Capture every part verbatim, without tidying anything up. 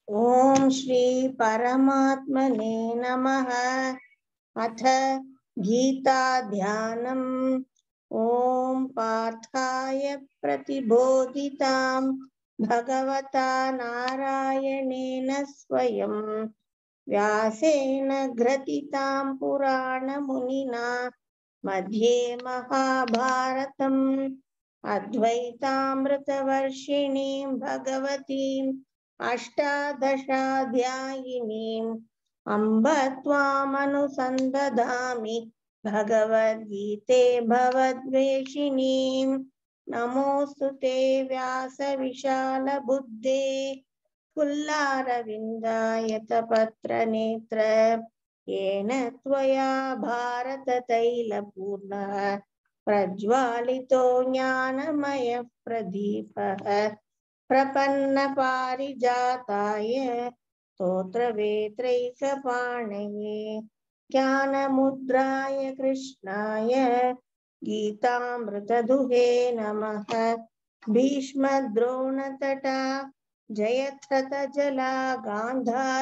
ओम श्री परमात्मने नमः। अथ गीता ध्यानम्। ओम पार्थाय प्रतिबोधितां भगवता नारायणेन स्वयं व्यासेन ग्रथितां पुराणमुनिना मध्ये महाभारतम् अद्वैतामृतवर्षिणीं भगवतीम् अष्टादशाध्यायिनीम् अम्ब त्वामनुसन्दधामि भगवद्गीते भवद्वेषिणीम्। नमोऽस्तु ते व्यासविशालबुद्धे फुल्लारविन्दायतपत्रनेत्र येन त्वया भारततैलपूर्णः प्रज्वालितो ज्ञानमयः प्रदीपः प्रपन्नपारिजाताय स्तोत्रवेत्रैकपाणये ज्ञानमुद्राय कृष्णाय गीतामृतदुहे नमः। भीष्मद्रोणतटा जयत्रतजला गान्धारनीलोत्पला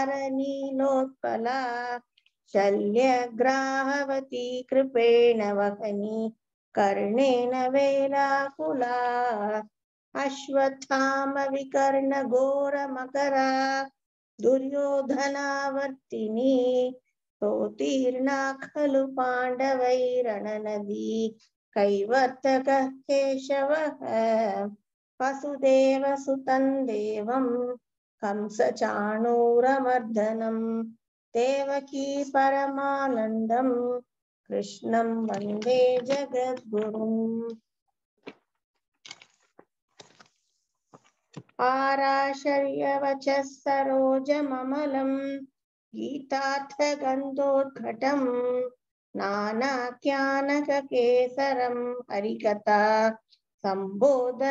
शल्यग्राहवती कृपेण वहनी कर्णेन वेलाकुला अश्वत्थाम विकर्ण घोर मकरा दुर्योधनावर्तिनी सोतीर्णा खलु पाण्डवैरणनदी कैवर्तकः केशवः वसुदेव सुतं देवं कंसचाणूरमर्दनं देवकी परमानन्दं कृष्णं वन्दे जगद्गुरुम्। आराशर्यवचः सरोजममलं गीतार्थगन्धोद्घटं नानाख्यानककेसरं हरिकथा सम्बोधनाबोधितं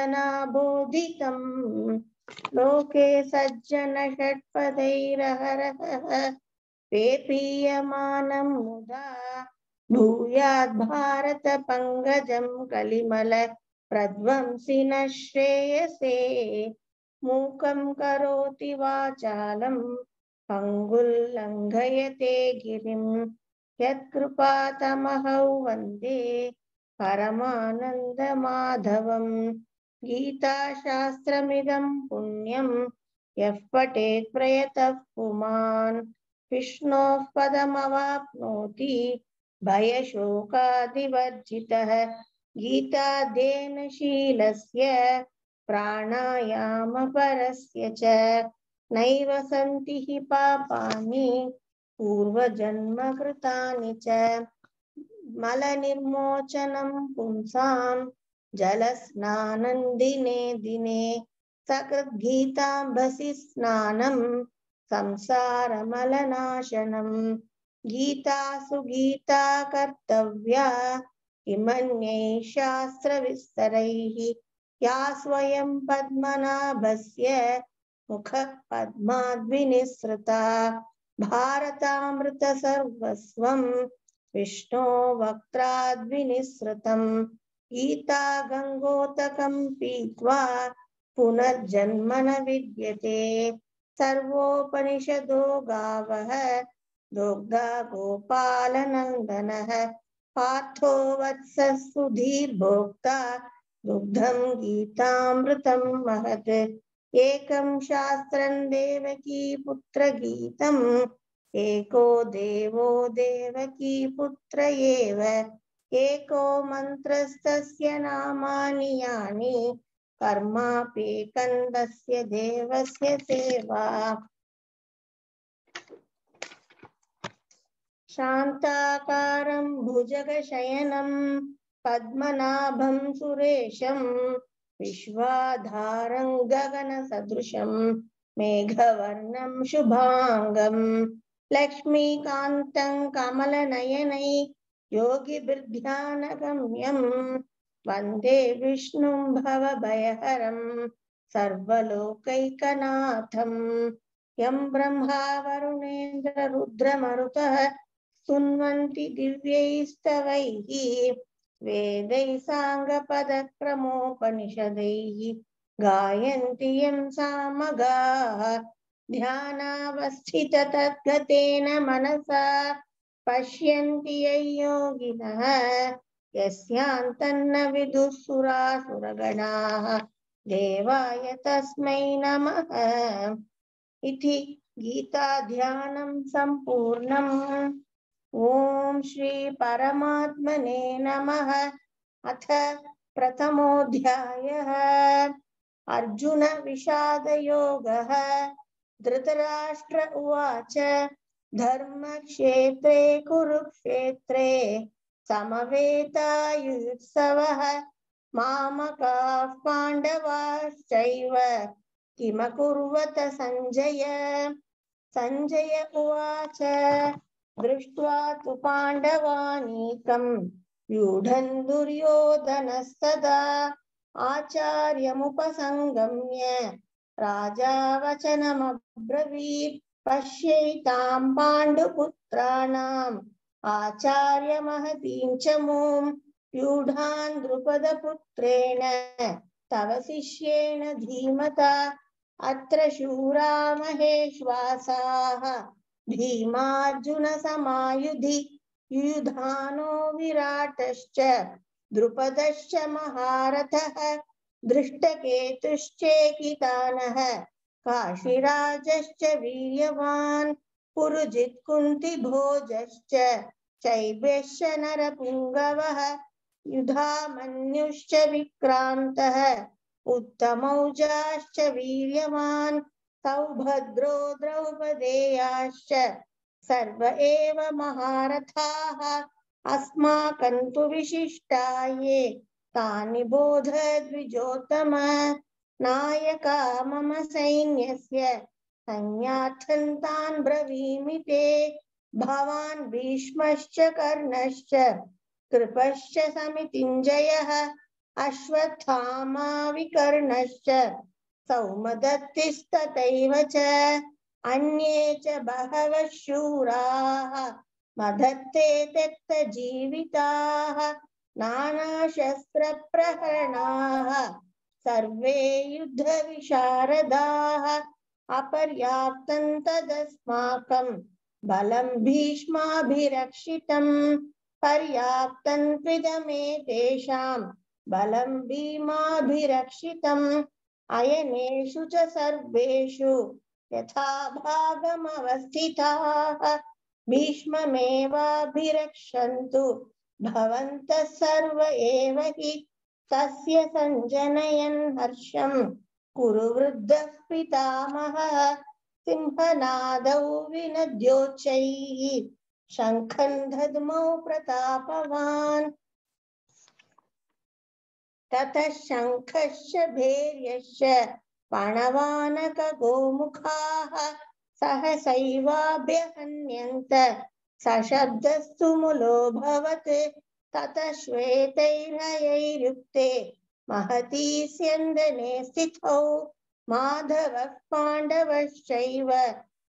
लोके सज्जनषट्पदैरहरः पेपीयमानं मुदा भूयाद् भारत पंकजं कलिमल प्रध्वंसिनः श्रेयसे मूकं करोति वाचालं पङ्गुल्लङ्घयते गिरिं यत्कृपातमहं वन्दे परमानन्दमाधवं। गीताशास्त्रमिदं पुण्यं यः पठेत् प्रयतः पुमान् विष्णोः पदमवाप्नोति भयशोकादिवर्जितः। गीताध्ययन शीलस्य प्राणायामपरस्य च नैव सन्ति हि पापानि पूर्वजन्मकृतानि च मलनिर्मोचनं पुंसां जलस्नानं दिने दिने सकृद्गीताम्भसि स्नानं संसारमलनाशनं। गीता सुगीता कर्तव्या किमन्यैः शास्त्रविस्तरैः या स्वयं पद्मनाभस्य मुखः पद्माद्विनिसृता भारतामृतसर्वस्वं विष्णो वक्त्राद्विनिसृतं। गीता गङ्गोदकं पीत्वा पुनर्जन्म न विद्यते सर्वोपनिषदो गावः दुग्धा गोपालनन्दनः पार्थो वत्सः सुधीर्भोक्ता दुग्धं गीतामृतं महत्। एकं शास्त्रं देवकी पुत्रगीतम् एको देवो देवकी पुत्र एव एको मन्त्रस्तस्य नामानि यानि कर्माप्येकन्दस्य देवस्य सेवा। शान्ताकारं भुजगशयनं पद्मनाभं सुरेशं विश्वाधारं गगनसदृशं मेघवर्णं शुभांगं लक्ष्मीकान्तं कमलनयनै योगिभिर्ध्यानगम्यं वन्दे विष्णुं भवभयहरं सर्वलोकैकनाथं। यं ब्रह्मा वरुणेन्द्र रुद्रमरुतः स्तुन्वन्ति दिव्यैस्तवैः वेदैः साङ्गपदक्रमोपनिषदैः गायन्ति यं सामगाः ध्यानावस्थित तद्गतेन मनसा पश्यन्ति ययोगिनः यस्यान्तन्न विदुः सुरासुरगणाः देवाय तस्मै नमः। इति गीताध्यानं सम्पूर्णम्। ओम श्री परमात्मने नमः। अथ प्रथमोऽध्यायः। अर्जुन विषादयोगः। धृतराष्ट्र उवाच धर्मक्षेत्रे कुरुक्षेत्रे समवेतायुत्सवः मामकाः पाण्डवाश्चैव किमकुर्वत संजय। संजय उवाच दृष्ट्वा तु पाण्डवानीकं व्यूढं दुर्योधनस्तदा आचार्यमुपसंगम्य राजा वचनमब्रवीत् पश्यैतां पाण्डुपुत्राणाम् आचार्यमहतीं च मूं व्यूढां द्रुपदपुत्रेण तव शिष्येण धीमता अत्र शूरा महेश्वासाः भीमार्जुन समायुधि युयुधानो विराटश्च द्रुपदश्च महारथः दृष्टकेतुश्चेकितानः काशीराजश्च वीर्यवान् पुरुजित् कुन्तिभोजश्च चैब्यश्च नरपुङ्गवः युधामन्युश्च विक्रान्तः उत्तमौजाश्च वीर्यवान् सौभद्रो द्रौपदेयाश्च सर्व एव महारथाः अस्माकं तु विशिष्टा ये तानि बोध द्विजोत्तम। नायका मम सैन्यस्य संज्ञार्थं तान् ब्रवीमि ते भवान् भीष्मश्च कर्णश्च कृपश्च समितिञ्जयः अश्वत्थामा विकर्णश्च सौमदत्तिस्तथैव च अन्ये च बहवः शूराः मदत्ते त्यक्तजीविताः नानाशस्त्रप्रहरणाः सर्वे युद्धविशारदाः अपर्याप्तं तदस्माकं बलं भीष्माभिरक्षितं पर्याप्तं त्विदमेतेषां बलं भीमाभिरक्षितम् अयनेषु च सर्वेषु यथा भागमवस्थिताः भीष्ममेवाभिरक्षन्तु भवन्तः सर्व एव हि तस्य सञ्जनयन् हर्षं कुरु वृद्धः पितामहः सिंहनादौ विनद्योच्चैः शङ्खं दद्मौ प्रतापवान् ततः शङ्खश्च भैर्यश्च पणवानकगोमुखाः सहसैवाभ्यहन्यन्त सशब्दस्तु मुलोऽभवत् ततः श्वेतैर्हयैर्युक्ते महती स्यन्दने स्थितौ माधवः पाण्डवश्चैव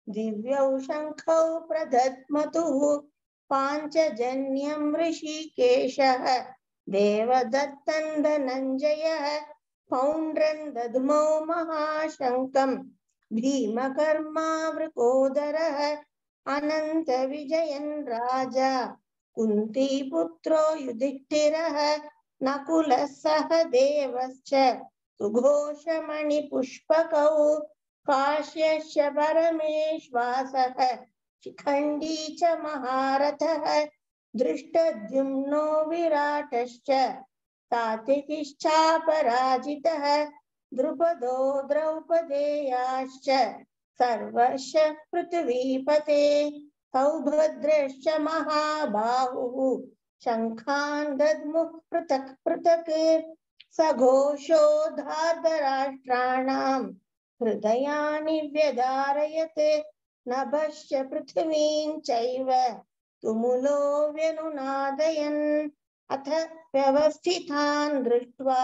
दिव्यौ शङ्खौ प्रदध्मतुः पाञ्चजन्यं ऋषिकेशः देवदत्तं धनञ्जयः पौण्ड्रं दद्मौ महाशङ्खं भीमकर्मा वृकोदरः अनन्तविजयन् राजा कुन्तीपुत्रो युधिष्ठिरः नकुलः सहदेवश्च सुघोषमणिपुष्पकौ काश्यश्च परमेश्वासः शिखण्डी च महारथः दृष्टद्युम्नो विराटश्च सात्विकिश्चापराजितः द्रुपदो द्रौपदेयाश्च सर्वश्च पृथ्वीपते सौभद्रश्च महाबाहुः शङ्खान् दद्मुः पृथक् पृथक् सघोषो धार्तराष्ट्राणां हृदयानि व्यधारयत् नभश्च पृथिवीं चैव तुमुलो व्यनुनादयन् अथ व्यवस्थितान् दृष्ट्वा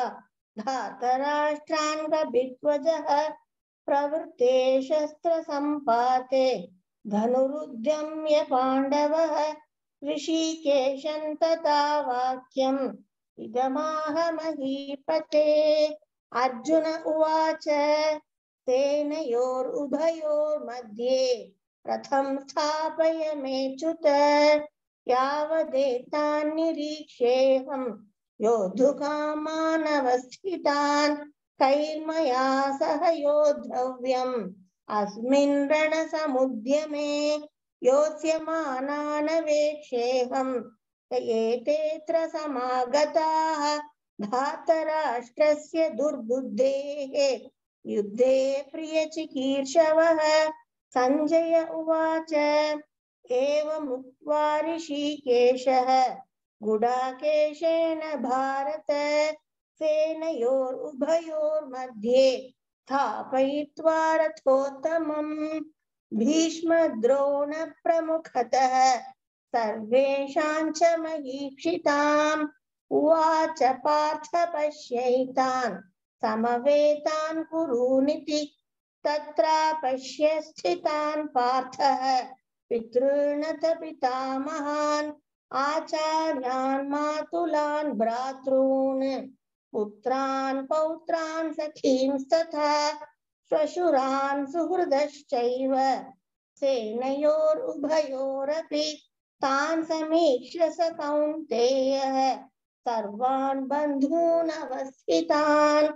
धार्तराष्ट्रान् कपिध्वजः प्रवृत्ते शस्त्रसम्पाते धनुरुद्यम्य पाण्डवः ऋषिकेशं तथा वाक्यम् इदमाह महीपते। अर्जुन उवाच सेनयोरुभयोर्मध्ये रथं स्थापय मेच्युत यावदेतान् निरीक्षेऽहं योद्धुकामानवस्थितान् कैर्मया सह योद्धव्यम् अस्मिन् रणसमुद्यमे योत्स्यमानानवेक्षेऽहं एतेऽत्र समागताः धातराष्ट्रस्य दुर्बुद्धेः युद्धे प्रियचिकीर्षवः। संजय उवाच एवमुक्त्वा ऋषिकेशः गुडाकेशेन भारत सेनयोरुभयोर्मध्ये स्थापयित्वा रथोत्तमम् भीष्मद्रोणप्रमुखतः सर्वेषां च महीक्षिताम् उवाच पार्थ पश्यैतान् समवेतान् कुरूनिति तत्रा पश्य स्थितान् पार्थः पितॄणथ पितामहान् आचार्यान् मातुलान् भ्रातॄन् पुत्रान् पौत्रान् सखींस्तथा श्वशुरान् सुहृदश्चैव सेनयोरुभयोरपि तान् समीक्ष्य स कौन्तेयः सर्वान् बन्धून् अवस्थितान्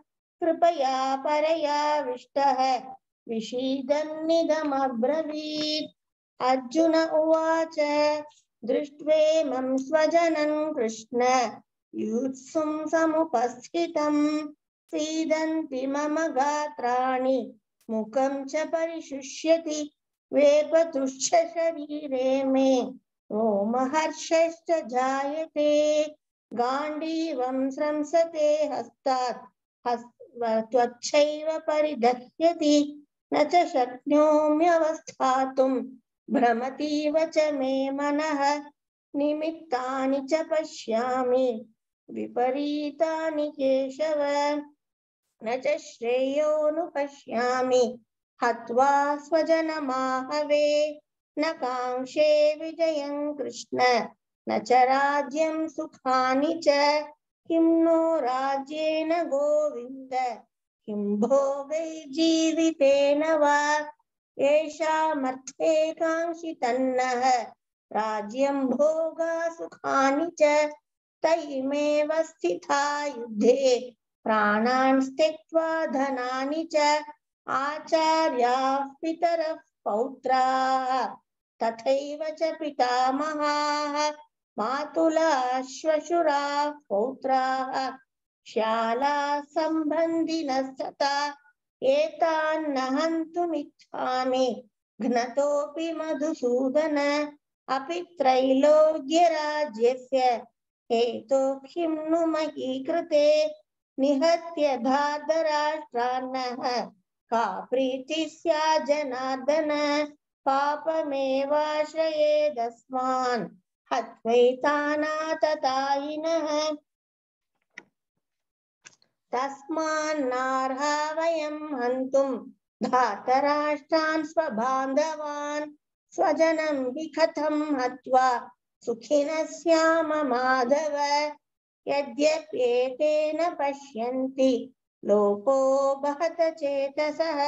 कृपया परयाविष्टः विषीदन्निदमब्रवीत्। अर्जुन उवाच दृष्ट्वेमं स्वजनं कृष्ण युत्सुं समुपस्थितं सीदन्ति मम गात्राणि मुखं च परिशुष्यति वेपतुश्च शरीरे मे रोमहर्षश्च जायते गाण्डीवं स्रंसते हस्तात् त्वच्छैव परिदह्यति न च शक्नोम्यवस्थातुं भ्रमतीव च मे मनः निमित्तानि च पश्यामि विपरीतानि केशव न च श्रेयोनुपश्यामि हत्वा स्वजनमाहवे न काङ्क्षे विजयं कृष्ण न च राज्यं सुखानि च किं नो राज्येन गोविन्द किं भोगैर्जीवितेन वा येषामर्थे काङ्क्षितन्नः राज्यं भोगा सुखानि च तैमेव स्थिता युद्धे प्राणान् त्यक्त्वा धनानि च आचार्याः पितरः पौत्राः तथैव च पितामहाः मातुलाः श्वशुराः पौत्राः श्यालाः सम्बन्धिनः सता एतान्न हन्तुमिच्छामि घ्नतोऽपि मधुसूदन अपि त्रैलोक्यराज्यस्य हेतोः किं नु मही कृते निहत्य धार्तराष्ट्रान्नः का प्रीतिः स्यात् जनार्दन पापमेवाश्रयेदस्मान् हत्वैतानाततायिनः तस्मान्नार्हा वयं हन्तुं धार्तराष्ट्रान् स्वबान्धवान् स्वजनं हि कथं हत्वा सुखिनः स्याम माधव यद्यप्येतेन पश्यन्ति लोको बहत चेतसः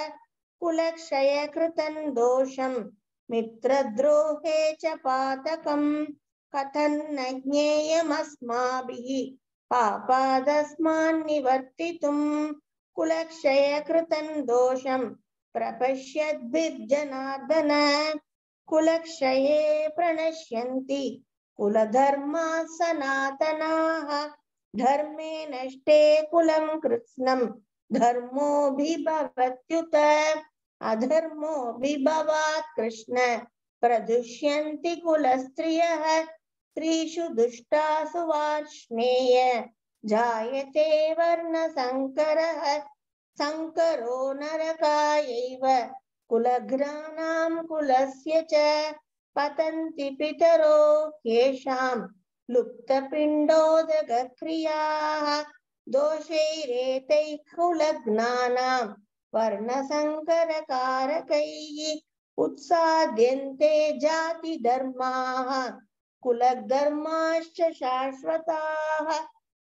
कुलक्षयकृतं दोषं मित्रद्रोहे च पातकं कथं न ज्ञेयमस्माभिः पापादस्मान् निवर्तितुं कुलक्षयकृतं दोषं प्रपश्यद्भिर्जनार्दन कुलक्षये प्रणश्यन्ति कुलधर्माः सनातनाः धर्मे नष्टे कुलं कृत्स्नं धर्मोऽभिभवत्युत अधर्मोऽभिभवात् कृष्ण प्रदुष्यन्ति कुलस्त्रियः स्त्रीषु दुष्टासु वार्ष्णेय जायते वर्णसङ्करः संकरो नरकायैव कुलघ्नानां कुलस्य च पतन्ति पितरो येषां लुप्तपिण्डोदकक्रियाः दोषैरेतैः कुलघ्नानां वर्णसङ्करकारकैः उत्साद्यन्ते जातिधर्माः कुलधर्माश्च शाश्वताः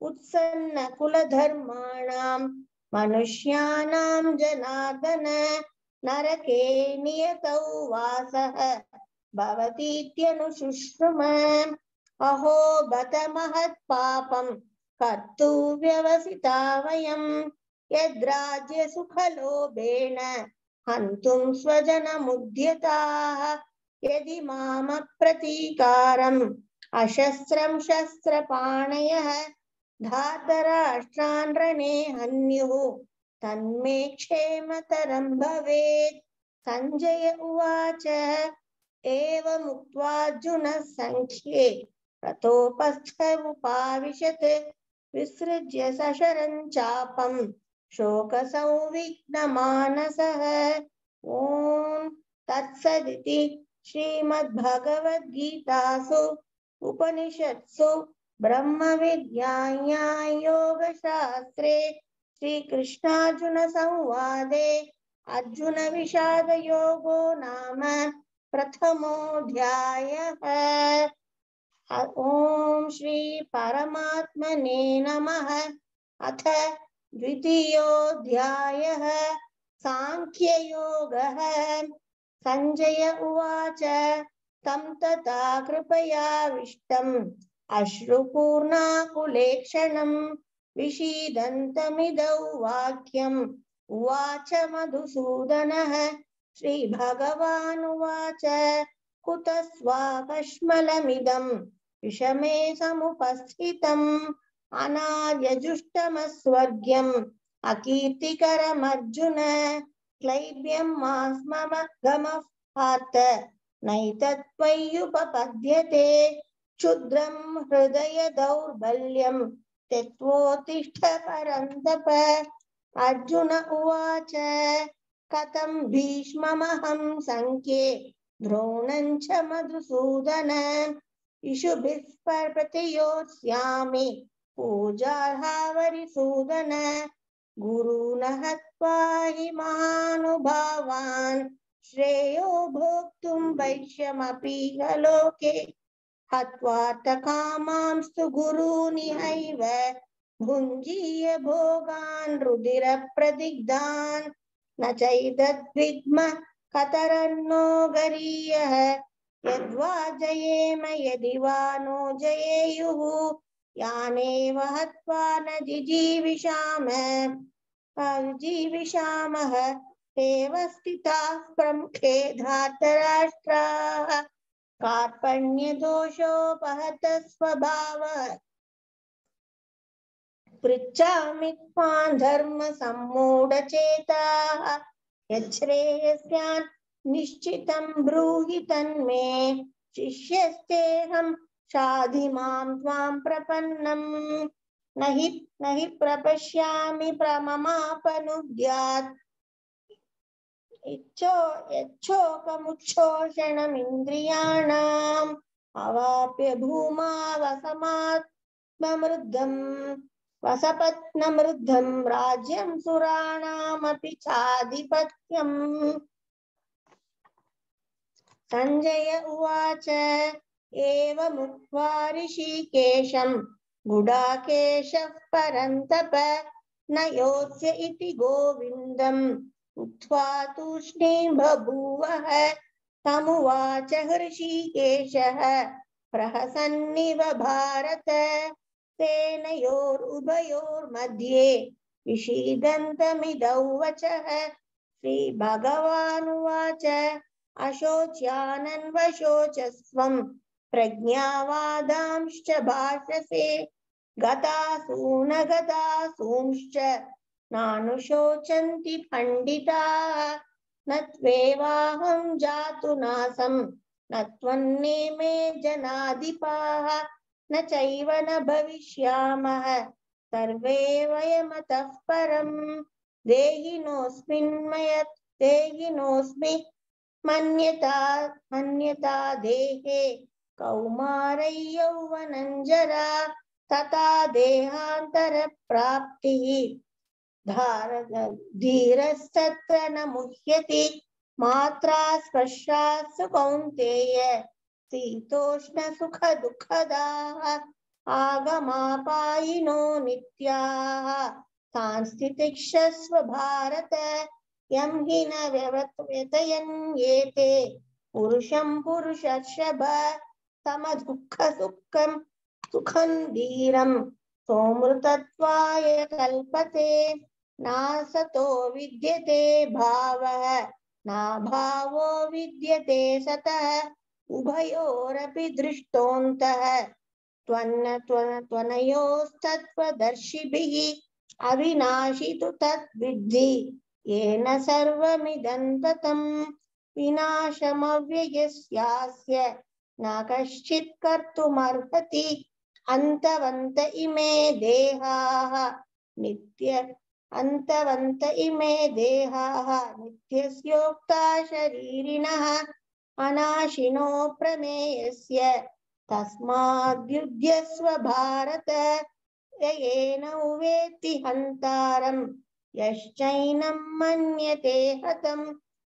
उत्सन्नकुलधर्माणां मनुष्याणां जनार्दन नरके नियतौ वासः भवतीत्यनुशुश्रुम अहो बत महत्पापं कर्तु व्यवसिता वयं यद्राज्यसुखलोभेन हन्तुं स्वजनमुद्यताः यदि मामप्रतीकारम् अशस्त्रं शस्त्रपाणयः धातराष्ट्रान् रणे हन्युः तन्मे क्षेमतरं भवेत्। संजय उवाच एवमुक्त्वार्जुनः संख्ये रथोपस्थ उपाविशत् विसृज्य सशरं चापं शोकसंविघ्नमानसः। ॐ तत्सदिति श्रीमद्भगवद्गीतासु उपनिषत्सु ब्रह्मविद्यायां योगशास्त्रे श्रीकृष्णार्जुन संवादे अर्जुन विषाद योगो नाम प्रथमोऽध्यायः। ओम श्री परमात्मने नमः। अथ द्वितीयोऽध्यायः सांख्ययोगः। संजय उवाच तं तथा कृपयाविष्टम् अश्रुपूर्णाकुलेक्षणं विषीदन्तमिदौ वाक्यम् उवाच मधुसूदनः। श्रीभगवानुवाच कुतस्त्वाकश्मलमिदं विषमे समुपस्थितम् अनार्यजुष्टमस्वर्ग्यम् अकीर्तिकरमर्जुन क्लैब्यं मास्मगमः पार्थ नैतत्त्वय्युपपद्यते क्षुद्रं हृदय दौर्बल्यं त्यक्त्वोत्तिष्ठ परन्तप। अर्जुन उवाच कथं भीष्ममहं संख्ये द्रोणं च मधुसूदन इषुभिः प्रतियोत्स्यामि पूजार्हावरिसूदन गुरून् हत्वा हि महानुभावान् श्रेयो भोक्तुं वैश्यमपीह लोके हत्वार्थकामांस्तु गुरूनिहैव भुञ्जीय भोगान् रुधिरप्रदिग्धान् न चैतद्विद्म कतरन्नो गरीयः यद्वा जयेम यदि वा नो जयेयुः यानेव हत्वा न जिजीविषाम जीविषामः तेव स्थिताः प्रमुखे धार्तराष्ट्राः कार्पण्यदोषोपहत स्वभावः पृच्छामि त्वां धर्मसम्मूढचेताः यच्छ्रेयस्यान् निश्चितं ब्रूहि तन्मे शिष्यस्तेऽहं शाधि मां त्वां प्रपन्नम् न हि न हि प्रपश्यामि प्रममापनुद्यात् इच्छो यच्छोकमुच्छोषणमिन्द्रियाणाम् अवाप्य भूमा वसमात्ममृद्धम् वसपत्नमृद्धं राज्यं सुराणामपि चाधिपत्यम्। संजय उवाच एवमुक्त्वा ऋषिकेशं गुडाकेशः परन्तप न योत्स्य इति गोविन्दम् उक्त्वा तूष्णीं बभूवः। तमुवाच हृषीकेशः प्रहसन्निव भारत सेनयोरुभयोर्मध्ये विषीदन्तमिदौ वचः। श्रीभगवानुवाच अशोच्यानन्वशोचस्त्वं प्रज्ञावादांश्च भाषसे गतासून गतासूंश्च नानुशोचन्ति पण्डिताः न त्वेवाहं जातु नासं न त्वन्नेमे जनाधिपाः न चैव न भविष्यामः सर्वे वयमतः परम् देहिनोऽस्मिन् मयत् देहिनोऽस्मि मन्यता मन्यता देहे कौमारै यौवनञ्जरा तथा देहान्तरप्राप्तिः धीरस्तत्र न मुह्यति मात्रा स्पर्शात्सु कौन्तेय शीतोष्ण सुख दुःखदाः आगमापायिनो नित्याः सांस्थितिक्षस्व भारत यं हि न व्यवत्ययन्येते पुरुषं पुरुषर्षभ समदुःखसुखं सुखं धीरं सोमृतत्वाय कल्पते नासतो विद्यते भावः नाभावो विद्यते सतः उभयोरपि दृष्टोऽन्तः त्वन्न त्वन त्वनयोस्तत्त्वदर्शिभिः अविनाशि तु तद्विद्धि येन सर्वमिदं ततं विनाशमव्ययस्यास्य न कश्चित् कर्तुमर्हति अन्तवन्त इमे देहाः नित्य अन्तवन्त इमे देहाः नित्यस्योक्ता शरीरिणः अनाशिनो प्रमेयस्य तस्माद्युध्यस्व भारत येन उवेत्ति हन्तारं यश्चैनं मन्यते हतम्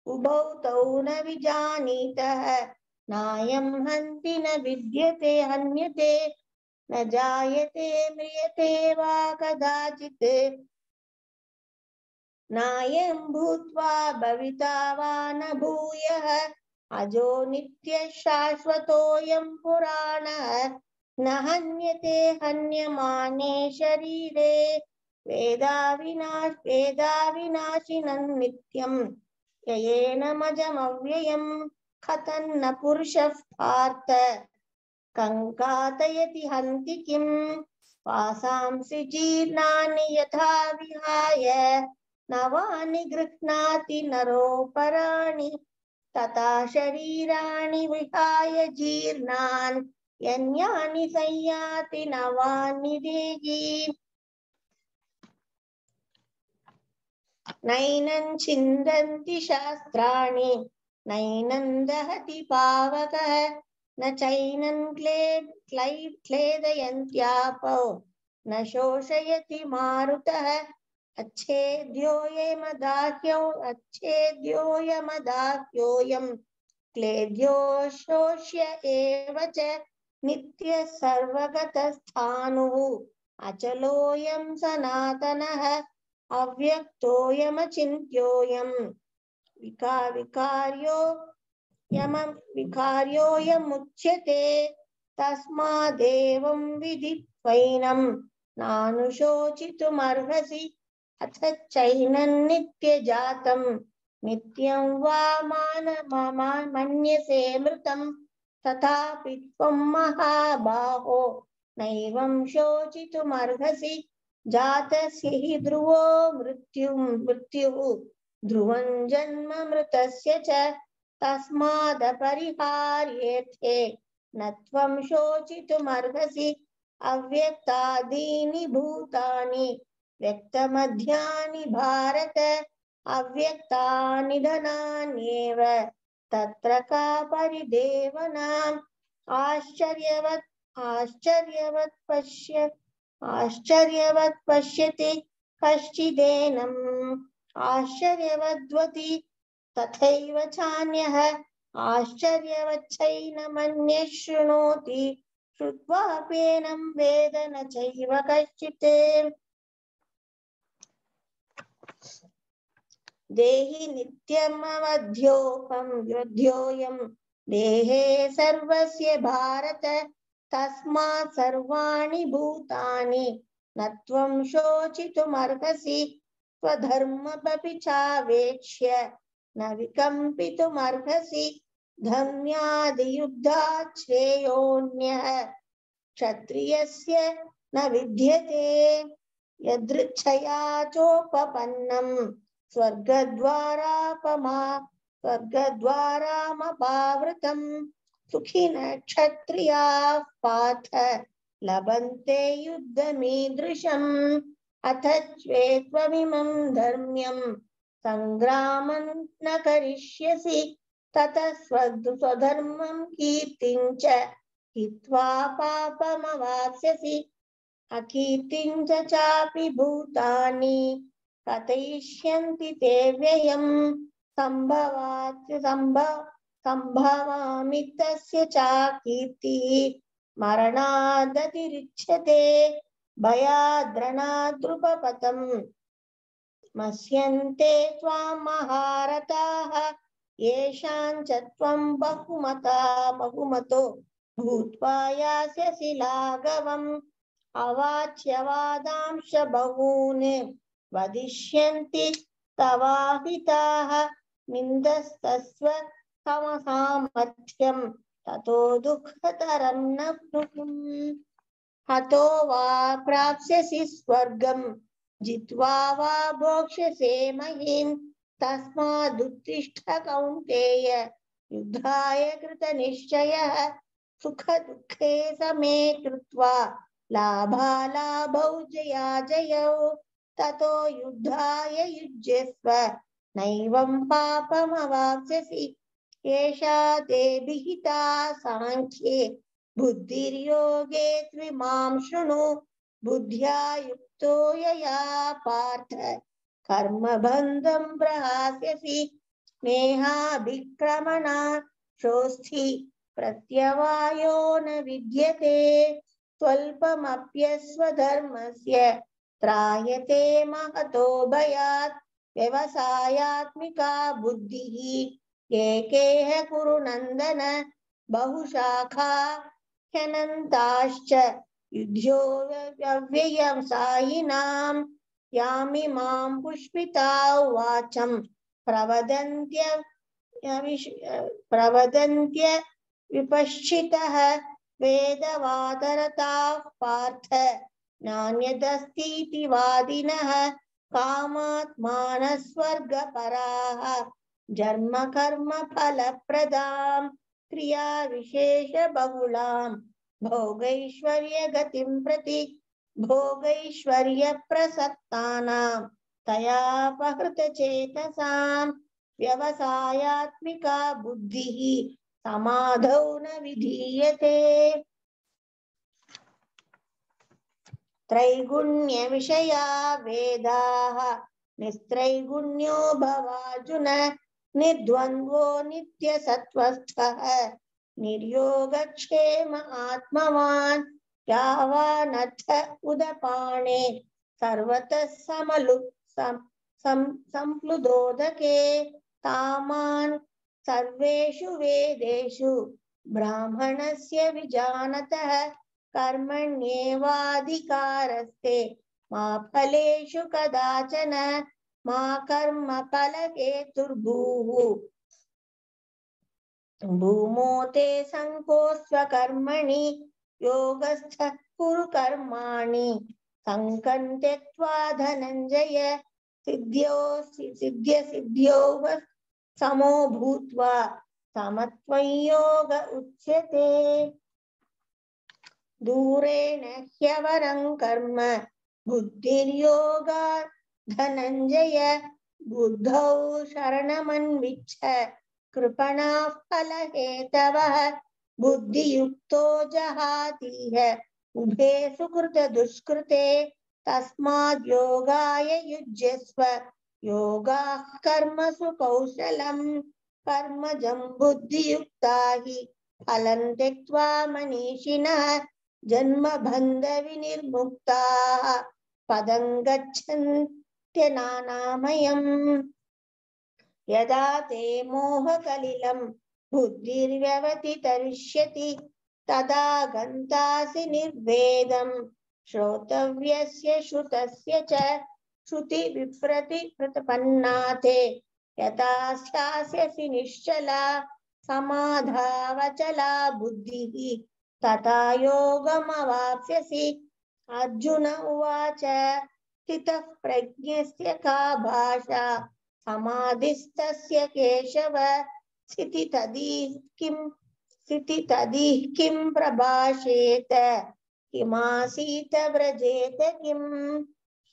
उभौ तौ न विजानीतः नायं हन्ति न विद्यते हन्यते न जायते म्रियते वा कदाचित् नायं भूत्वा भविता वा न भूयः अजो नित्यः शाश्वतोऽयं पुराणः न हन्यते हन्यमाने शरीरे वेदाविनाश वेदाविनाशिनं नित्यं येनमजमव्ययं कथन्न पुरुषः पार्थ कङ्कातयति हन्ति किं वासांसि जीर्णानि यथा विहाय नवानि गृह्णाति नरोपराणि तथा शरीराणि विहाय जीर्णान् यन्यानि संयाति नवानि देहि नैनं छिन्दन्ति शास्त्राणि नैनं दहति पावकः न चैनं क्लेदयन्त्यापो न शोषयति मारुतः अच्छेद्योऽयमदाह्यो अच्छेद्योऽयमदाह्योऽयं क्लेद्यो शोष्य एव च नित्यः सर्वगतस्थाणुः अचलोऽयं सनातनः अव्यक्तोऽयमचिन्त्योऽयं विका विकार्यो यम विकार्योऽयमुच्यते तस्मादेवं विदित्वैनं नानुशोचितुमर्हसि अथ चैनं नित्यजातं नित्यं वा मान मन्यसे मृतं तथापि त्वं महाबाहो नैवं शोचितुमर्हसि जातस्य हि ध्रुवो मृत्युः मृत्युः ध्रुवं जन्म मृतस्य च तस्मादपरिहार्येथे न त्वं शोचितुमर्हसि अव्यक्तादीनि भूतानि व्यक्तमध्यानि भारत अव्यक्तानि धनान्येव तत्र का परिदेवना आश्चर्यवत् आश्चर्यवत् पश्य आश्चर्यवत् पश्यति कश्चिदेनम् आश्चर्यवद्वति तथैव चान्यः आश्चर्यवच्चैनमन्यः शृणोति श्रुत्वाप्येनं वेद न चैव कश्चित् देहि नित्यमवध्योऽहं वध्योऽयं देहे सर्वस्य भारत तस्मात् सर्वाणि भूतानि न त्वं शोचितुमर्हसि स्वधर्ममपि चावेक्ष्य न विकम्पितुमर्हसि धर्म्यादियुद्धात् श्रेयोऽन्यः क्षत्रियस्य न विद्यते यदृच्छया चोपपन्नं स्वर्गद्वारापमा स्वर्गद्वारामपावृतं सुखिनः क्षत्रियाः पार्थ लभन्ते युद्धमीदृशम् अथ त्वेत्त्वमिमं धर्म्यं संग्रामं न करिष्यसि ततः स्वधर्मं कीर्तिं च हित्वा पापमवाप्स्यसि अकीर्तिं च चापि भूतानि कथयिष्यन्ति ते व्ययम् संभवात् संभव संभवामि तस्य च कीर्तिः मरणादतिरिच्यते भयाद्रणाद्रुपपतम् मस्यन्ते त्वां महारथाः येषां च त्वं बहुमता बहुमतो भूत्वा यास्यसि लाघवम् अवाच्यवादांश बहून् वदिष्यन्ति तवाहिताः निन्दस्तस्व समसामर्थ्यं ततो दुःखतरं न नुम् हतो वा प्राप्स्यसि स्वर्गम् जित्वा वा भोक्ष्यसे महीम् तस्मादुत्तिष्ठ कौन्तेय युद्धाय कृतनिश्चयः सुखदुःखे समे कृत्वा लाभालाभौ जयाजयौ ततो युद्धाय युज्यस्व नैवं पापमवाप्स्यसि एषा ते विहिता सांख्ये बुद्धिर्योगे त्विमां शृणु बुद्ध्या युक्तो यया पार्थ कर्मबन्धं प्रहास्यसि स्नेहाभिक्रमणा शोस्थि प्रत्यवायो न विद्यते स्वल्पमप्यस्वधर्मस्य त्रायते महतो भयात् व्यवसायात्मिका बुद्धिः एकेह कुरु नन्दन बहुशाखा ह्यनन्ताश्च युध्यो व्यव्ययसायिनां यामिमां पुष्पिता वाचं प्रवदन्त्य प्रवदन्त्य विपश्चितः वेदवादरताः पार्थ नान्यदस्तीति वादिनः कामात्मानः स्वर्गपराः जन्म कर्म फलप्रदां क्रिया विशेष बहुलां भोगैश्वर्य गतिं प्रति भोगैश्वर्य प्रसक्तानां तयापहृत चेतसां व्यवसायात्मिका बुद्धिः समाधौ न विधीयते त्रैगुण्य विषया वेदाः निस्त्रैगुण्यो भवार्जुन निर्द्वन्द्वो नित्यसत्त्वस्थः निर्योगक्षेम आत्मवान् यावानर्थ उदपाणे सर्वतः समलु सम सम संप्लुदोदके तामान् सर्वेषु वेदेषु ब्राह्मणस्य विजानतः कर्मण्येवाधिकारस्ते मा फलेषु कदाचन मा कर्म फलहेतुर्भूः भूमो ते संकोस्त्वकर्मणि योगस्थः कुरु कर्माणि संकं त्यक्त्वा धनञ्जय सिद्ध्यो सिद्ध्य सिद्ध्यो समो भूत्वा समत्वं योग उच्यते दूरेण ह्यवरं कर्म बुद्धिर्योगात् धनञ्जय बुद्धौ शरणमन्विच्छ कृपणाः फलहेतवः बुद्धियुक्तो जहातीह उभे सुकृत दुष्कृते तस्माद् योगाय युज्यस्व योगाः कर्मसु कौशलम् कर्मजं बुद्धियुक्ता हि फलं त्यक्त्वा मनीषिणः जन्मबन्ध विनिर्मुक्ताः पदं गच्छन्त्यनामयम् यदा ते मोहकलिलं बुद्धिर्व्यवतितरिष्यति तदा गन्तासि निर्वेदं श्रोतव्यस्य श्रुतस्य च श्रुति विप्रति प्रतिपन्नाते यथा स्यास्यसि निश्चला समाधावचला बुद्धिः तथा योगमवाप्स्यसि अर्जुन उवाच स्थितः प्रज्ञस्य का भाषा समाधिस्तस्य केशव स्थितितदिह किं स्थितितदिह किं प्रभाषेत किमासीत व्रजेत किं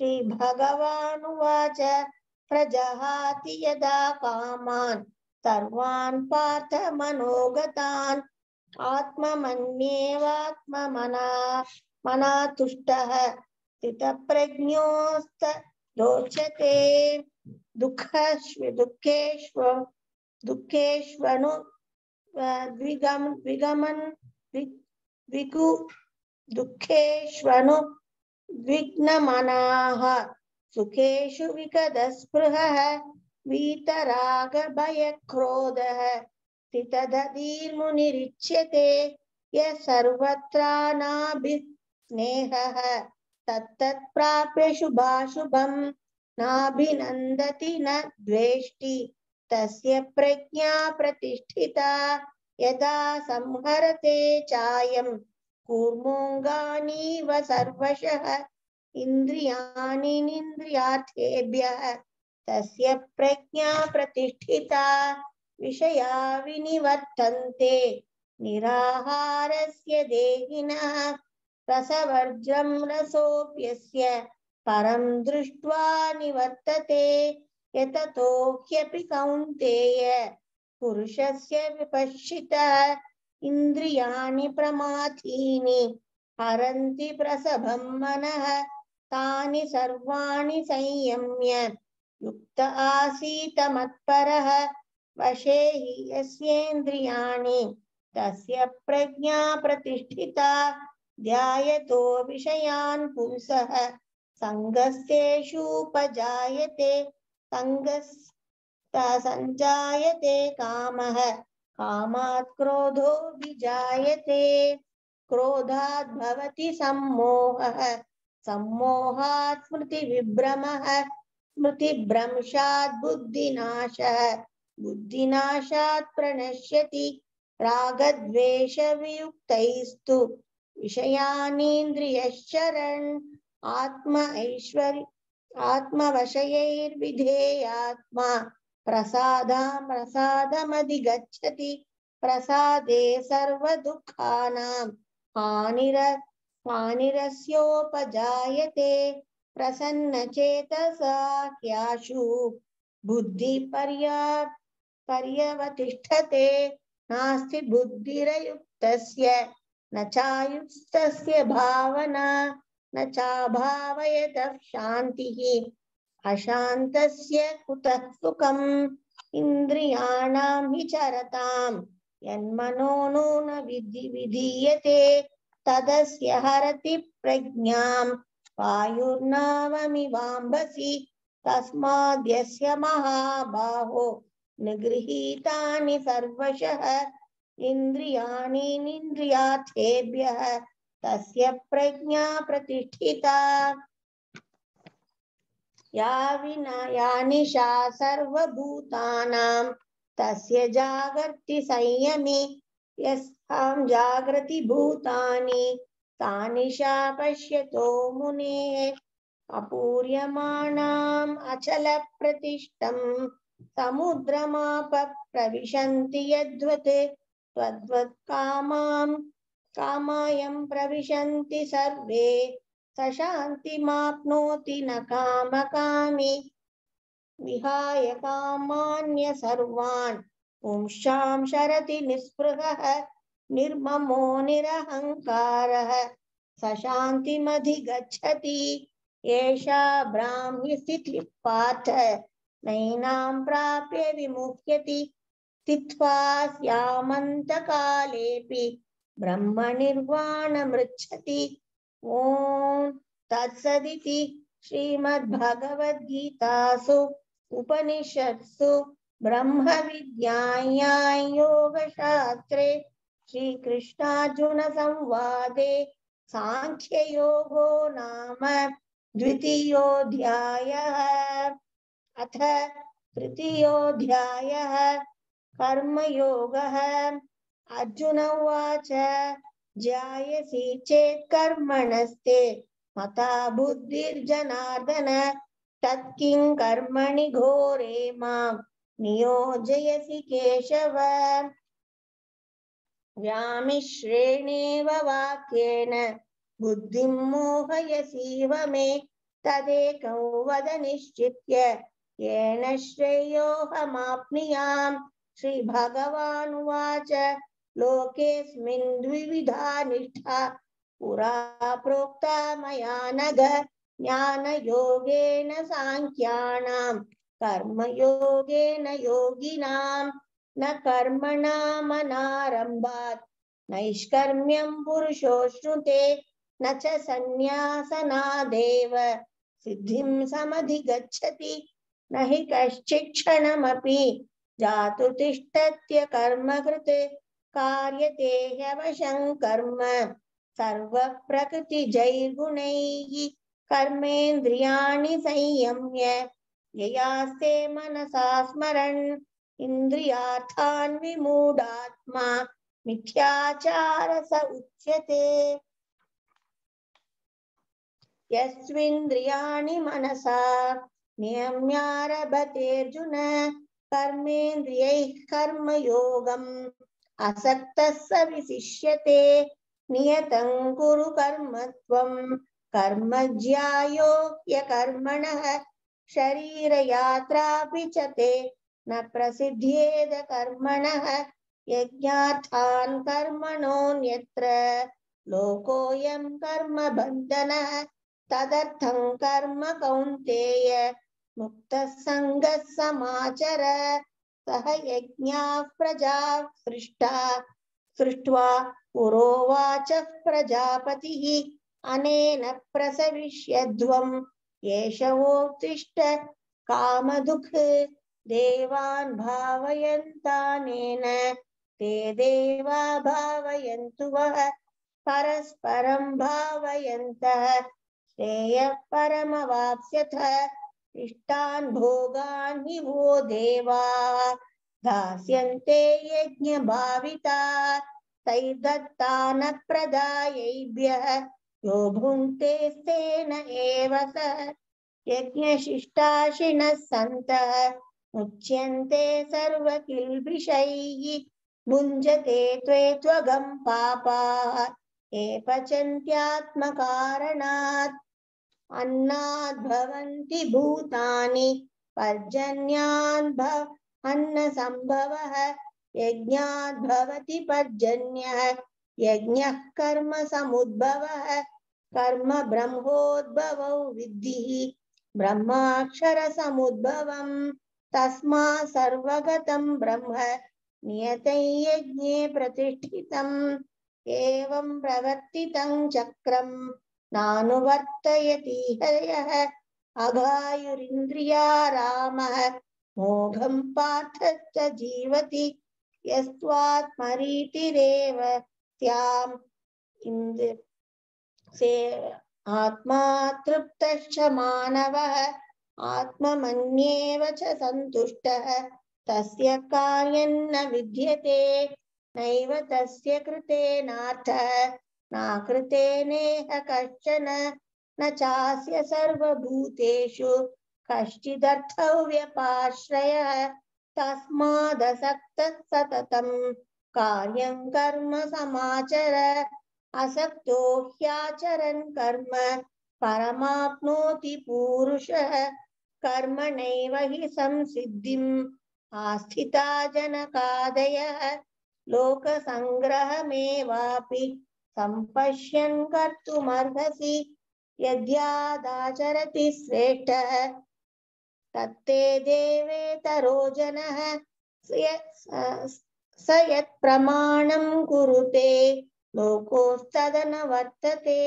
श्रीभगवानुवाच प्रजहाति यदा कामान् सर्वान् पार्थ मनोगतान् आत्ममन्येवात्ममना मना तुष्टः स्थितप्रज्ञोस्त रोचते दुःखश्व दुःखेष्व दुःखेष्वनु द्विगम द्विगमन द्विगु दुःखेष्वनु विघ्नमनाः सुखेषु विगतस्पृहः वीतरागभयक्रोधः स्थितधीर्मुनिरिच्यते यः सर्वत्रानाभिस्नेहः तत्तत्प्राप्य शुभाशुभं नाभिनन्दति न द्वेष्टि तस्य प्रज्ञा प्रतिष्ठिता यदा संहरते चायं कूर्मोऽङ्गानीव सर्वशः इन्द्रियाणि निन्द्रियार्थेभ्यः तस्य प्रज्ञा प्रतिष्ठिता विषया विनिवर्तन्ते निराहारस्य देहिनः रसवर्ज्यं रसोऽप्यस्य परं दृष्ट्वा निवर्तते यततो ह्यपि कौन्तेय पुरुषस्य विपश्चितः इन्द्रियाणि प्रमाथीनि हरन्ति प्रसभं मनः तानि सर्वाणि संयम्य युक्त आसीत मत्परः वशे हि यस्येन्द्रियाणि तस्य प्रज्ञा प्रतिष्ठिता ध्यायतो विषयान् पुंसः सङ्गस्तेषूपजायते सङ्गस्ता सञ्जायते कामः कामात् क्रोधो विजायते क्रोधात् भवति सम्मोहः सम्मोहात् स्मृतिविभ्रमः स्मृतिभ्रंशात् बुद्धिनाशः बुद्धिनाशात् प्रणश्यति रागद्वेषवियुक्तैस्तु विषयानीन्द्रियश्चरन् आत्म ऐश्वर्य आत्मवशयैर्विधेयात्मा प्रसादा प्रसादमधिगच्छति प्रसादे सर्वदुःखानां हानिर हानिरस्योपजायते प्रसन्नचेतसा ह्याशु बुद्धिपर्या पर्यवतिष्ठते नास्ति बुद्धिरयुक्तस्य न चायुक्तस्य भावना न चाभावयतः शान्तिः अशान्तस्य कुतः सुखम् इन्द्रियाणां हि चरतां यन्मनो न विधि विधीयते तदस्य हरति प्रज्ञां वायुर्नावमिवाम्भसि तस्माद्यस्य महाबाहो निगृहीतानि सर्वशः इन्द्रियाणि निन्द्रियार्थेभ्यः तस्य प्रज्ञा प्रतिष्ठिता या विना या निशा सर्वभूतानां तस्य जागर्ति संयमी यस्तां जागृति भूतानि सा निशा पश्यतो मुनेः अपूर्यमाणाम् अचलप्रतिष्ठं समुद्रमाप प्रविशन्ति यद्वत् तद्वत् कामां कामायं प्रविशन्ति सर्वे स शान्तिमाप्नोति न कामकामी विहाय कामान्य सर्वान् पुंसां शरति निःस्पृहः निर्ममो निरहङ्कारः स शान्तिमधिगच्छति एषा ब्राह्मी स्थितिः पार्थ नैनां प्राप्य विमुह्यति स्थित्वा स्यामन्तकालेऽपि ब्रह्मनिर्वाणमृच्छति ॐ तत्सदिति श्रीमद्भगवद्गीतासु उपनिषत्सु ब्रह्मविद्यायां योगशास्त्रे श्रीकृष्णार्जुनसंवादे सांख्ययोगो नाम द्वितीयोऽध्यायः। अथ तृतीयोऽध्यायः कर्मयोगः। अर्जुन उवाच ज्यायसि चेत् कर्मणस्ते मता बुद्धिर्जनार्दन तत्किं कर्मणि घोरे मां नियोजयसि केशव। व्यामिश्रेणेव वाक्येन बुद्धिं मोहयसीव मे तदेकं वद निश्चित्य येन श्रेयोऽहमाप्नुयाम्। श्रीभगवानुवाच लोकेऽस्मिन् द्विविधा निष्ठा पुरा प्रोक्ता मया नघ ज्ञानयोगेन सांख्यानां कर्मयोगेन योगिनां न कर्मणामनारम्भात् नैष्कर्म्यं पुरुषोऽश्नुते न च सन्न्यासनादेव सिद्धिं समधिगच्छति न हि कश्चित् क्षणमपि जातु तिष्ठत्य कर्मकृत् कार्यते ह्यवशं कर्म सर्वप्रकृतिजैर्गुणैः कर्मेन्द्रियाणि संयम्य ययास्ते मनसा स्मरन् इन्द्रियार्थान् विमूढात्मा मिथ्याचारस उच्यते। यस्विन्द्रियाणि मनसा नियम्यारभतेऽर्जुन कर्मेन्द्रियैः कर्मयोगम् असक्तः स विशिष्यते। नियतं कुरु कर्म त्वं कर्म ज्यायो ह्यकर्मणः शरीरयात्रापि च ते न प्रसिद्ध्येद कर्मणः यज्ञार्थान् कर्मणोऽन्यत्र लोकोऽयं कर्म बन्धनः तदर्थं कर्म कौन्तेय मुक्तः सङ्गः समाचर। सह यज्ञाः प्रजाः सृष्टा सृष्ट्वा पुरोवाचः प्रजापतिः अनेन प्रसविष्यध्वम् एष वोत्तिष्ठ कामधुक् देवान् भावयन्तानेन ते देवा भावयन्तु वः परस्परं भावयन्तः श्रेयः परमवाप्स्यथ। इष्टान् भोगान् हि वो देवाः दास्यन्ते यज्ञभाविताः तैर्दत्तानः प्रदायैभ्यः यो भुङ्क्ते तेन एव सः। यज्ञशिष्टाशिनः सन्तः मुच्यन्ते सर्वकिल्बिषैः भुञ्जते त्वे त्वगं पापाः ये पचन्त्यात्मकारणात्। अन्नाद् भवन्ति भूतानि पर्जन्याद् भव अन्नसम्भवः यज्ञाद् भवति पर्जन्यः यज्ञः कर्म समुद्भवः कर्म ब्रह्मोद्भवौ विद्धि ब्रह्माक्षर समुद्भवम् तस्मात् सर्वगतं ब्रह्म नियतं यज्ञे प्रतिष्ठितम्। एवं प्रवर्तितं चक्रं नानुवर्तयति हयः अघायुरिन्द्रियारामः मोघं पार्थ च जीवति यस्त्वात्मरीतिरेव स्याम् इन्द्र से आत्मा तृप्तश्च मानवः आत्ममन्येव च सन्तुष्टः तस्य कार्यं न विद्यते नैव तस्य कृतेनार्थः नाकृतेनेह कश्चन न चास्य सर्वभूतेषु कश्चिदर्थव्यपाश्रयः तस्मादसक्तः सततं कार्यं कर्म समाचर। असक्तो ह्याचरन् कर्म परमाप्नोति पूरुषः कर्मणैव हि संसिद्धिम् आस्थिता जनकादयः लोकसङ्ग्रहमेवापि सम्पश्यन् कर्तुमर्हसि यद्यादाचरति श्रेष्ठः तत्ते देवेतरो जनः स यत्प्रमाणं कुरुते लोकोस्तदनुवर्तते।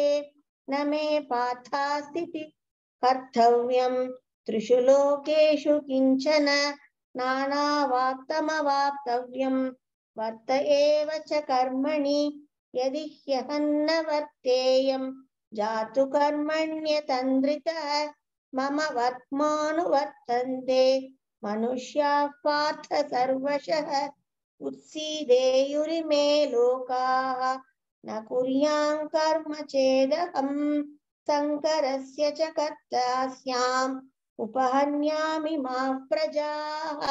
न मे पार्थास्ति कर्तव्यं त्रिषु लोकेषु किञ्चन नानावाप्तमवाप्तव्यं वर्त एव च कर्मणि यदि ह्यहं न वर्तेयं जातु कर्मण्यतन्द्रितः मम वर्त्मानुवर्तन्ते मनुष्याः पार्थ सर्वशः उत्सीदेयुरिमे लोकाः न कुर्यां कर्म चेदहं शङ्करस्य च कर्ता स्याम् उपहन्यामि मा प्रजाः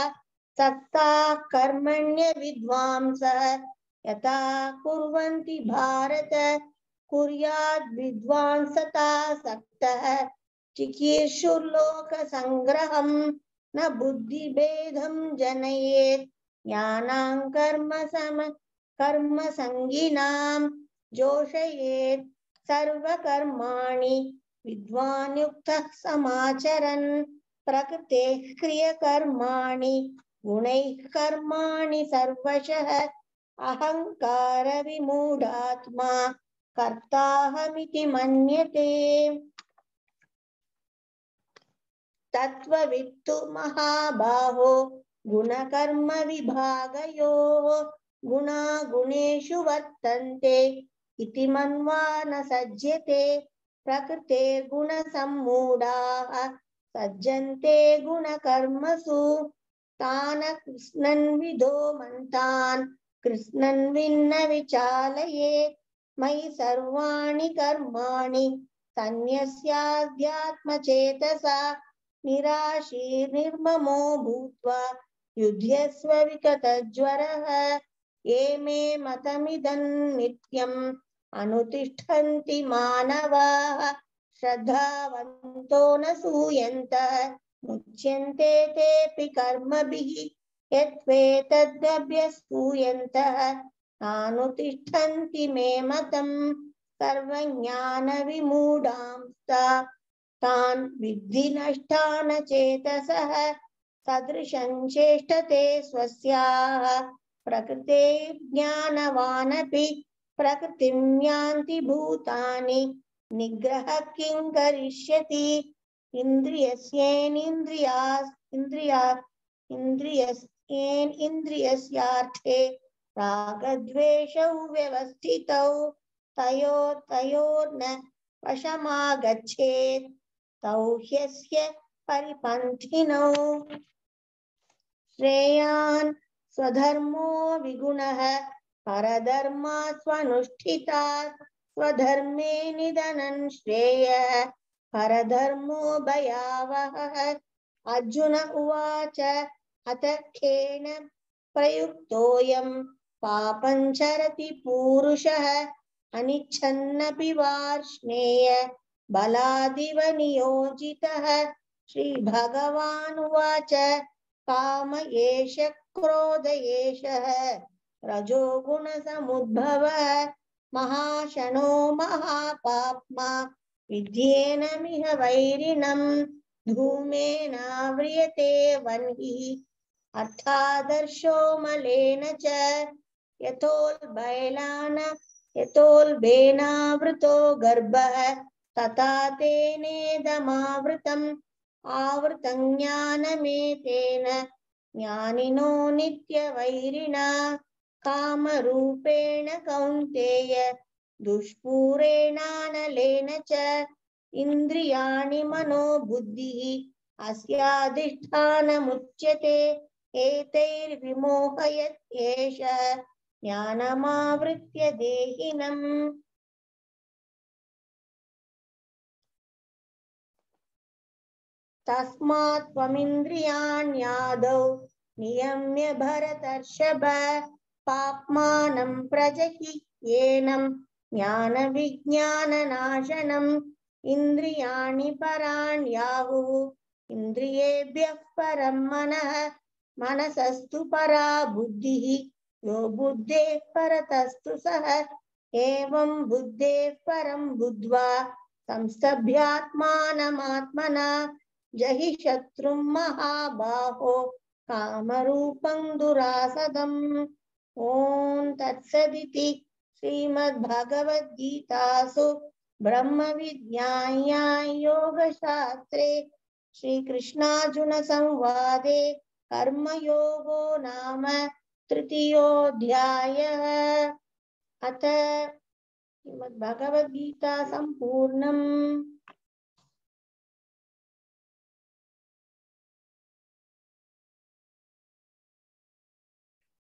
सक्ताः कर्मण्य विद्वांसः यथा कुर्वन्ति भारत कुर्याद् विद्वांसता सक्तः चिकीर्षुर्लोकसङ्ग्रहं न बुद्धिभेदं जनयेत् ज्ञानां कर्म सम कर्म संगिनां जोषयेत् सर्वकर्माणि विद्वान् युक्तः समाचरन् प्रकृतेः क्रियकर्माणि गुणैः कर्माणि सर्वशः अहंकार विमूढात्मा कर्ताहमिति मन्यते। तत्त्ववित्तु महाबाहो गुणकर्म विभागयोः गुणा गुणेषु वर्तन्ते इति मन्वा न सज्जते। प्रकृतेर्गुणसम्मूढाः सज्जन्ते गुणकर्मसु तान् कृष्णन् विदो मन्तान् कृष्णन् विन्न विचालयेत्। मयि सर्वाणि कर्माणि सन्न्यस्याध्यात्मचेतसा निराशीर्निर्ममो भूत्वा युध्यस्व विगतज्वरः। ये मे मतमिदं नित्यम् अनुतिष्ठन्ति मानवाः श्रद्धावन्तो न सूयन्तः मुच्यन्ते तेऽपि कर्मभिः यत्त्वेतदभ्यसूयन्तः नानुतिष्ठन्ति मे मतम्। सर्वज्ञानविमूढांस्ता तान् विद्धि नष्टान चेतसः सदृशं चेष्टते स्वस्याः प्रकृते ज्ञानवानपि प्रकृतिं यान्ति भूतानि निग्रह किं करिष्यति। इन्द्रियस्येन्द्रियास् इन्द्रिया इन्द्रियस्येन इन्द्रियस्यार्थे रागद्वेषौ व्यवस्थितौ तयो तयोर्न वशमागच्छेत् तौ ह्यस्य परिपन्थिनौ। श्रेयान् स्वधर्मो विगुणः परधर्मात् स्वनुष्ठितात् स्वधर्मे निधनं श्रेयः परधर्मो भयावहः। अर्जुन उवाच अथ केन प्रयुक्तोऽयं पापं चरति पूरुषः अनिच्छन्नपि वार्ष्णेय बलादिव नियोजितः। श्रीभगवानुवाच काम एष क्रोध एषः रजोगुणसमुद्भवः महाशनो महापाप्मा विद्येनमिह वैरिणम् धूमेनाव्रियते वह्निः अर्थादर्शो मलेन च यतोल्बैलान यतोल्बेनावृतो गर्भः तथा तेनेदमावृतम् आवृतं ज्ञानमेतेन ज्ञानिनो नित्यवैरिणा। कामरूपेण कौन्तेय दुष्पूरेणानलेन च इन्द्रियाणि मनोबुद्धिः अस्याधिष्ठानमुच्यते। एतैर्विमोहयत् एषः ज्ञानमावृत्य देहिनम्। तस्मात् त्वमिन्द्रियाण्यादौ नियम्य भरतर्षभ पाप्मानं प्रजह्येनं ज्ञानविज्ञाननाशनम्। इन्द्रियाणि पराण्याहुः इन्द्रियेभ्यः परं मनः मनसस्तु परा बुद्धिः यो बुद्धेः परतस्तु सः। एवं बुद्धेः परं बुद्ध्वा संस्तभ्यात्मानमात्मना जहि शत्रुं महाबाहो कामरूपं दुरासदम्। ॐ तत्सदिति श्रीमद्भगवद्गीतासु ब्रह्मविद्यायां योगशास्त्रे श्रीकृष्णार्जुनसंवादे कर्मयोगो नाम तृतीयोऽध्यायः। अथ श्रीमद्भगवद्गीता सम्पूर्णम्।